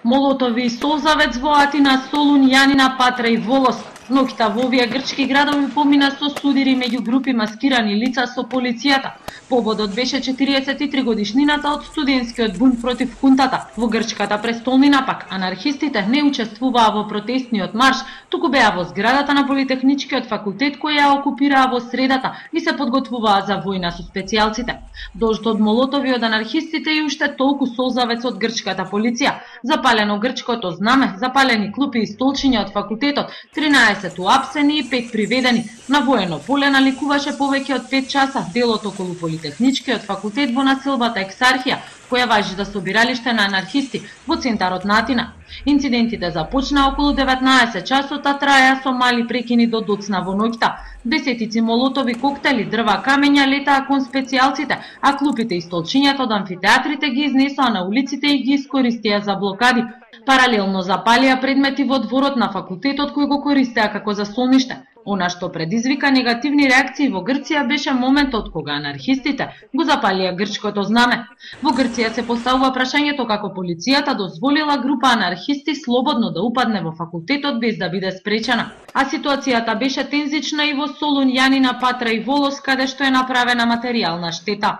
Молотови и Солзавец во Атина, Солун, Јанина, Патра и Волос. Ноќта во овие грчки градови помина со судири меѓу групи маскирани лица со полицијата. Поводот беше 43 годишнината од студентскиот бунт против хунтата. Во грчката престолнина пак анархистите не учествуваа во протестниот марш, туку беа во зградата на Политехничкиот факултет која ја окупираа во средата и се подготвуваа за војна со специјалците. Дожд од молотови од анархистите и уште толку Солзавец од грчката полиција. Запалено грчкото знаме, запалени клупи и столчиња од факултетот, 13 уапсени и 5 приведени. На воено поле наликуваше повеќе од 5 часа делот околу Политехничкиот факултет во населбата Ексархија, која важи за собиралиште на анархисти во центарот на Атина. Инцидентите започнаа околу 19 часот, а траја со мали прекини до доцна во ноќта. Десетици молотови, коктели, дрва, камења летаа кон специјалците, а клупите и столчињата од амфитеатрите ги изнесоа на улиците и ги искористија за блокади. Паралелно запалија предмети во дворот на факултетот кој го користеа како заслониште. Она што предизвика негативни реакции во Грција беше моментот кога анархистите го запалија грчкото знаме. Во Грција се поставува прашањето како полицијата дозволила група анархисти слободно да упадне во факултетот без да биде спречена. А ситуацијата беше тензична и во Солун, Јанина, Патра и Волос, каде што е направена материјална штета.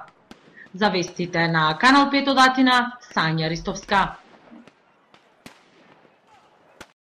За вестите на Канал 5 од Атина, Сања Ристовска.